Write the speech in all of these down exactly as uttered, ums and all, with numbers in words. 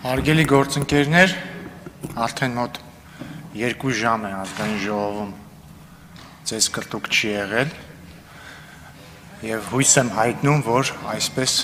Հարգելի գործընկերներ, արդեն մոտ երկու ժամ է ազգային ժողովում ձեզ կրտուկ չի եղել և հույս եմ հայտնում, որ այսպես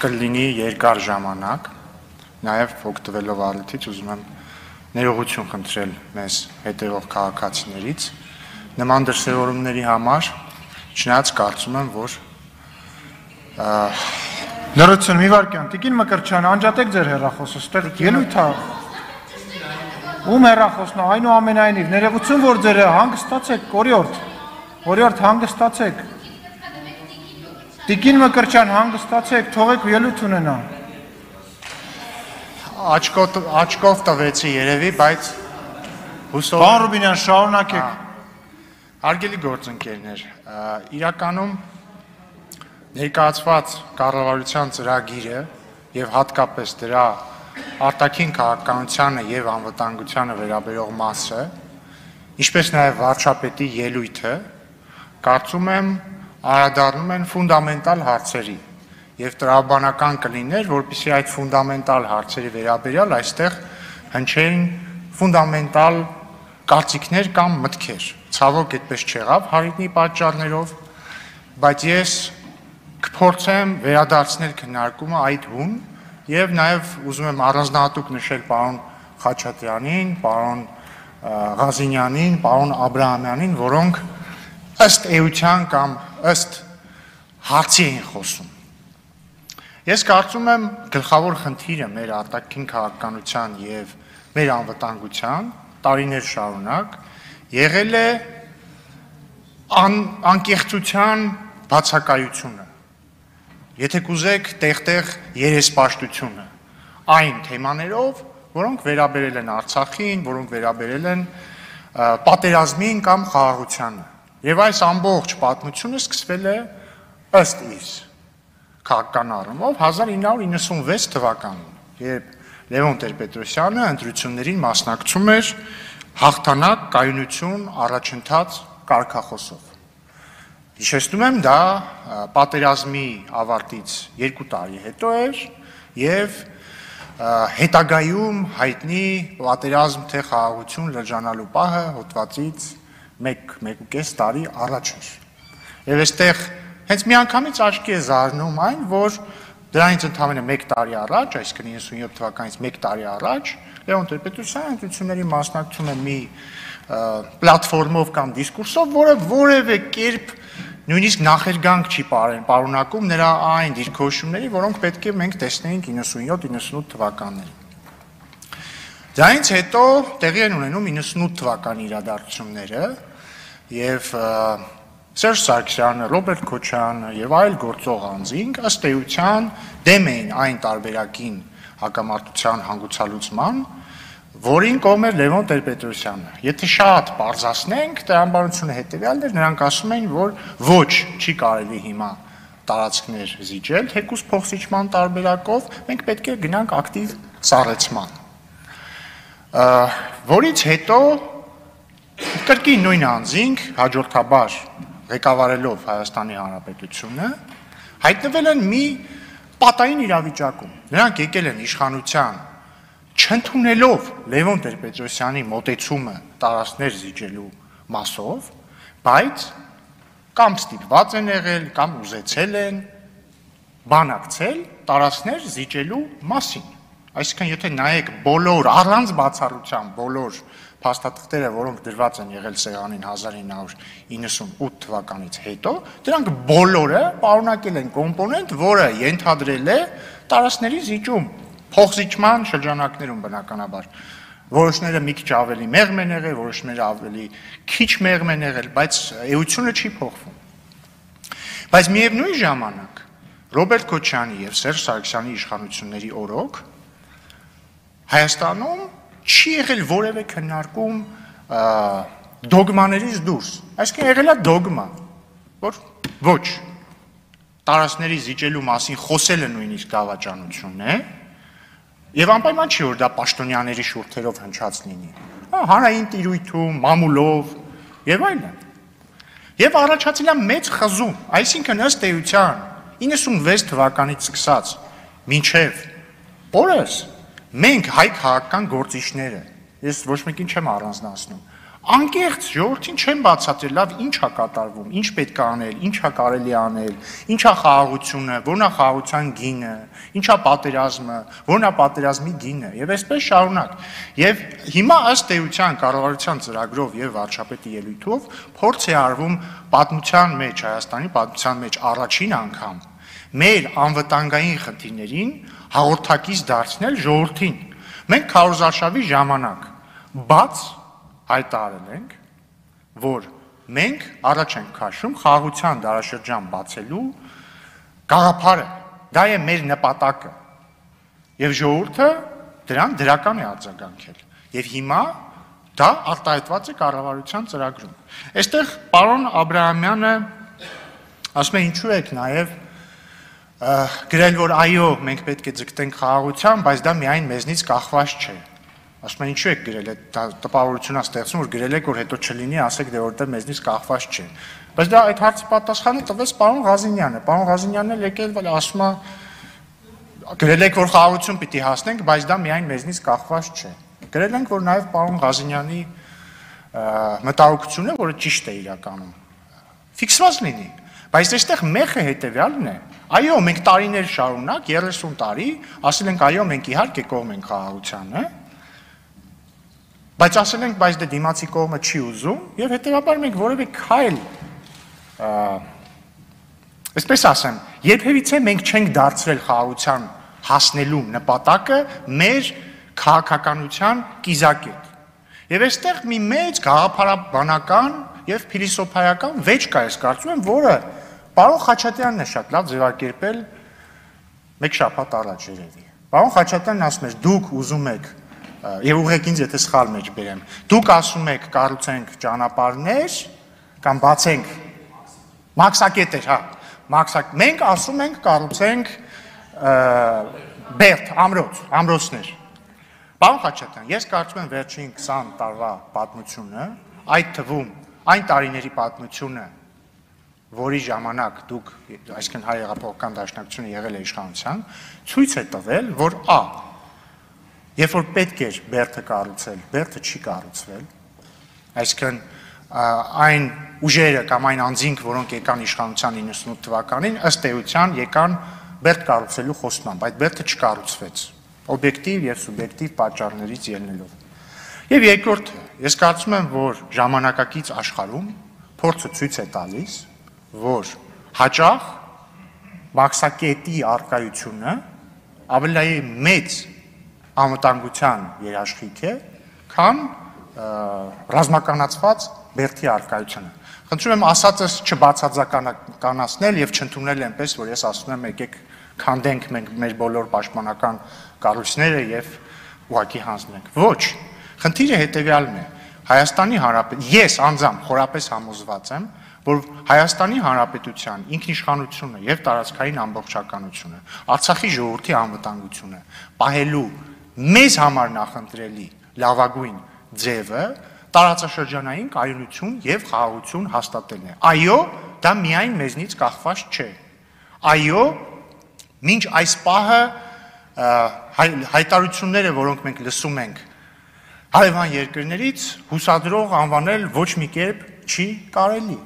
կլինի երկար ժամանակ, նաև օգտվելով առիթից ուզում եմ ներողություն խնդրել մեզ հետևող քաղաքացիներից, նման դրսևորումների համար, չնայած կարծում եմ, որ Լրություն, մի վարկյան, Տիկին Մկրտչյան, անջատեք ձեր հեռախոսը, ստեղ ելույթ է։ Ում հեռախոսն է, այնուամենայնիվ, ներողություն, որ ձեր հանգստացեք, օրիորդ, օրիորդ հանգստացեք։ Տիկին Մկրտչյան, հանգստացեք, թողեք ելույթ ունենա։ Աչքով տվեցի երևի, բայց հուսով Պարոն Ռուբինյան, շարունակեք։ Հարգելի գործընկերներ, իրականում ներկայացված կառավարության ծրագիրը և հատկապես դրա արտաքին քաղաքականությանը և անվտանգությանը վերաբերող մասը, ինչպես նաև վարչապետի ելույթը, կարծում եմ անդրադառնում են ֆունդամենտալ հարցերի և տրամաբանական կլիներ, որպեսզի այդ ֆունդամենտալ հարցերի վերաբերյալ այստեղ հնչեին ֆունդամենտալ կարծիքներ կամ մտքեր։ Ցավոք այդպես չեղավ հարիտնի պատճառներով, բայց ես կփորձեմ վերադարձնել քննարկումը այդ հուն և նաև ուզում եմ առանձնահատուկ նշել պարոն Խաչատրյանին, պարոն Ղազինյանին, պարոն Աբրահամյանին, որոնք ըստ էության կամ ըստ հարցի էին խոսում։ Ես կարծում եմ գլխավոր խնդիրը մեր արտաքին քաղաքականության և մեր անվտանգության տարիներ շարունակ եղել է անկեղծության բացակայությունը, եթե կուզեք տեղ-տեղ երեսպաշտությունը, այն թեմաներով, որոնք վերաբերել են Արցախին, որոնք վերաբերել են պատերազմին կամ խաղաղությանը։ Եվ այս ամբողջ պատմությունը սկսվել է ըստ իս քաղաքական առումով հազար ինը հարյուր իննսունվեց թվականին, երբ Լևոն Տեր-Պետրոսյանը ընտրություններին մասնակցում էր հաղթանակ, կայունություն, առաջընթաց կարգախոսով։ Հիշեցնում եմ, դա պատերազմի ավարտից երկու տարի հետո էր և հետագայում հայտնի պատերազմ թե խաղաղություն լրջանալու պահը հոդվածից մեկ, մեկ ու կես տարի առաջ էր։ Եվ այստեղ հենց միանգամից աչքի է զարնում այն, որ դրանից ընդամենը մեկ տարի առաջ, այսինքն իննսունյոթ թվականից մեկ տարի առաջ, Լևոն Տեր-Պետրոսյանը ընտրությունների մասնակցում է մի պլատֆորմով կամ դիսկուրսով, որը որևէ կերպ նույնիսկ նախերգանք չի պարունակում նրա այն դիրքորոշումների, որոնք պետք է մենք տեսնեինք իննսունյոթ իննսունութ թվականներին։ Դրանից հետո տեղի են ունենում իննսունութ թվականի իրադարձությունները և Սերժ Սարգսյանը, Ռոբերտ Քոչարյանը և այլ գործող անձինք ըստ էության դեմ էին այն տարբերակին հակամարտության հանգուցալուծման, որին կողմ էր Լևոն Տեր-Պետրոսյանը։ Եթե շատ պարզացնենք, տրամաբանությունը հետևյալն էր, նրանք ասում էին, որ ոչ, չի կարելի հիմա տարածքներ զիջել, թեկուզ փոխզիջման տարբերակով, մենք պետք է գնանք ակտիվ սառեցման։ Որից հետո կրկին նույն անձինք հաջորդաբար ղեկավարելով Հայաստանի Հանրապետությունը հայտնվել են մի պատային իրավիճակում։ Նրանք եկել են իշխանության չընդունելով Լևոն Տեր-Պետրոսյանի մոտեցումը տարածքներ զիջելու մասով, բայց կամ ստիպված են եղել, կամ ուզեցել են բանակցել տարածքներ զիջելու մասին։ Այսինքն, եթե նայեք բոլոր, առանց բացառության բոլոր փաստաթղթերը, որոնք դրված են եղել սեղանին հազար ինը հարյուր իննսունութ թվականից հետո, դրանք բոլորը պարունակել են կոմպոնենտ, որը ենթադրել է տարածքների զիջում, փոխզիջման շրջանակներում բնականաբար։ Որոշները մի քիչ ավելի մեղմ են եղել, որոշները ավելի քիչ մեղմ են եղել, բայց էությունը չի փոխվում։ Բայց միևնույն ժամանակ Ռոբերտ Քոչարյանի և Սերժ Սարգսյանի իշխանությունների օրոք Հայաստանում չի եղել որևէ քննարկում դոգմաներից դուրս, այսինքն եղել է դոգմա, որ ոչ, տարածքների զիջելու մասին խոսելը նույնիսկ դավաճանություն է, և անպայման չի, որ դա պաշտոնյաների շուրթերով հնչած լինի, հանրային տիրույթում, մամուլով և այլն։ Եվ առաջացել է մեծ խզում, այսինքն ըստ էության իննսունվեց թվականից սկսած մինչև օրս մենք հայ քաղաքական գործիչները, ես ոչ մեկին չեմ առանձնացնում, անկեղծ ժողովրդին չեն բացատրել, լավ ինչ է կատարվում, ինչ պետք է անել, ինչ է կարելի անել, ինչ է խաղաղությունը, որն է խաղաղության գինը, ինչ է պատերազմը, որն է պատերազմի գինը, եւ այսպես շարունակ։ Եվ հիմա ըստ էության կառավարության ծրագրով եւ վարչապետի ելույթով փորձ է արվում պատմության մեջ, Հայաստանի պատմության մեջ առաջին անգամ մեր անվտանգային խնդիրներին հաղորդակից դարձնել ժողովրդին։ Մենք քարոզարշավի ժամանակ բաց հայտարարել ենք, որ մենք առաջ ենք քաշում խաղաղության դարաշրջան բացելու գաղափարը, դա է մեր նպատակը, եւ ժողովուրդը դրան դրական է արձագանքել, եւ հիմա դա արտահայտված է կառավարության ծրագրում։ Այստեղ պարոն Աբրահամյանը ասում է ինչու եք նաեւ գրել, որ այո, մենք պետք է ձգտենք խաղաղության, բայց դա միայն մեզնից կախված չէ։ Ասում են ինչու եք գրել, այդ տպավորությունն է ստեղծում, որ գրել եք, որ հետո չլինի, ասեք դե որտեղ մեզնից կախված չէ։ Բայց դա այդ հարցի պատասխանը տվեց պարոն Ղազինյանը։ Պարոն Ղազինյանն էլ եկել ասում է գրել եք, որ խաղաղություն պիտի հասնենք, բայց դա միայն մեզնից կախված չէ։ Գրել ենք, որ նաև պարոն Ղազինյանի մտահոգությունը, որը ճիշտ է իրականում, ֆիքսված լինի։ Բայց այստեղ մեխը հետևյալն է։ Այո, մենք տարիներ շարունակ, երեսուն տարի, ասել ենք այո, մենք իհարկե կողմ ենք խաղաղությանը, բայց ասել ենք, բայց դե դիմացի կողմը չի ուզում, եւ հետեւաբար մենք որևէ քայլ, այսպես ասեմ, երբևիցե մենք չենք դարձրել խաղաղության հասնելու նպատակը մեր քաղաքականության կիզակետ։ Եվ այստեղ մի մեծ գաղափարաբանական եւ փիլիսոփայական վեճ կա, ես կարծում եմ, որը պարոն Խաչատրյանն է շատ լավ ձևակերպել մեկ շաբաթ առաջ երևի։ Պարոն Խաչատրյանն ասում էր, դուք ուզում եք եւ ուղղեք ինձ եթե սխալ մեջ բերեմ։ Դուք ասում եք կառուցենք ճանապարհներ կամ բացենք մաքսակետեր, հա, մաքսակ։ Մենք ասում ենք կառուցենք բերդ, ամրոց, ամրոցներ։ Պարոն Խաչատրյան, ես կարծում եմ վերջին քսան տարվա պատմությունը, այդ թվում այն տարիների պատմությունը, որի ժամանակ դուք, այսինքն հայ հեղափոխական դաշնակցությունը եղել է իշխանության, ցույց է տվել, որ ա երբ որ պետք էր բերդը կառուցել, բերդը չի կառուցվել, այսինքն այն ուժերը կամ այն անձինք, որոնք եկան իշխանության իննսունութ թվականին, ըստ էության եկան բերդ կառուցելու խոստմամբ, այդ բերդը չկառուցվեց, օբյեկտիվ եւ սուբյեկտիվ պատճառներից ելնելով։ Եվ երկրորդը, ես կարծում եմ, որ ժամանակակից աշխարհում փորձը ցույց է տալիս, որ հաճախ մաքսակետի արկայությունը ավելի մեծ անվտանգության երաշխիք է, քան ռազմականացված բերդի արկայությունը։ Խնդրում եմ ասածս չբացարձականացնել եւ չընդունել այնպես, որ ես ասում եմ, եկեք քանդենք մենք մեր բոլոր պաշտպանական կառույցները եւ ուղղակի հանձնենք։ Ոչ, խնդիրը հետեւյալն է։ Հայաստանի Հանրապետության, ես անձամբ խորապես համոզված եմ, որ Հայաստանի Հանրապետության ինքնիշխանությունը եւ տարածքային ամբողջականությունը, Արցախի ժողովրդի անվտանգությունը պահելու մեզ համար նախընտրելի լավագույն ձևը տարածաշրջանային կայունություն եւ խաղաղություն հաստատելն է։ Այո, դա միայն մեզնից կախված չէ։ Այո, մինչ այս պահը հայտարարությունները, որոնք մենք լսում ենք հարևան երկրներից, հուսադրող անվանել ոչ մի կերպ չի կարելի։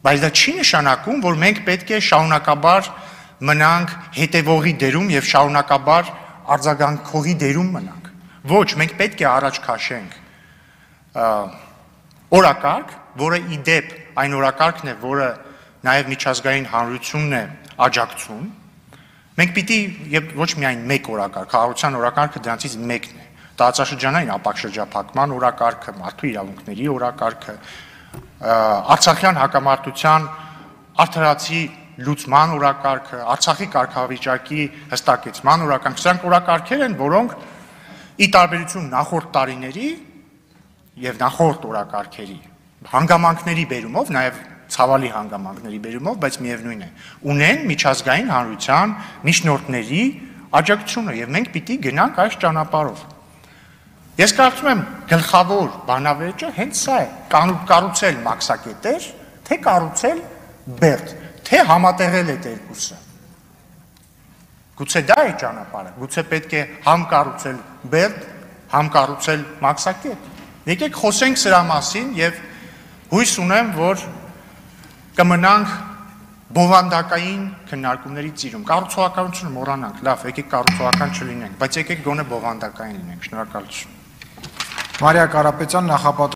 Բայց դա չի նշանակում, որ մենք պետք է շարունակաբար մնանք հետևողի դերում եւ շարունակաբար արձագանքողի դերում մնանք։ Ոչ, մենք պետք է առաջ քաշենք օրակարգ, որը ի դեպ այն օրակարգն է, որը նաեւ միջազգային հանրությունն է աջակցում։ Մենք պիտի եւ ոչ միայն մեկ օրակարգ, խաղաղության օրակարգը դրանցից մեկն է։ Տարածաշրջանային ապակշրջափակման օրակարգը, մարդու իրավունքների օրակարգը, Արցախյան հակամարտության արդարացի լուծման օրակարգը, Արցախի կարգավիճակի հստակեցման օրակարգը, սրանք օրակարգեր են, որոնք ի տարբերություն նախորդ տարիների եւ նախորդ օրակարգերի հանգամանքների բերումով, նաեւ ցավալի հանգամանքների բերումով, բայց միևնույն է, ունեն միջազգային հանրության միջնորդների աջակցությունը եւ մենք պիտի գնանք այս ճանապարհով։ Ես կարծում եմ գլխավոր բանավեճը հենց սա է, կառուցել մաքսակետեր, թե կառուցել բերդ, թե համատեղել այդ երկուսը։ Գուցե դա է ճանապարհը, գուցե պետք է համ կառուցել բերդ, համ կառուցել մաքսակետ։ Եկեք խոսենք սրա մասին եւ հույս ունեմ, որ կմնանք բովանդակային քննարկումների ծիրում։ Կառուցողականությունը մոռանանք, լավ, եկեք կառուցողական չլինենք, բայց եկեք գոնե բովանդակային լինենք։ Շնորհակալություն։ Մարիա Կարապետյան, նախապատրաստական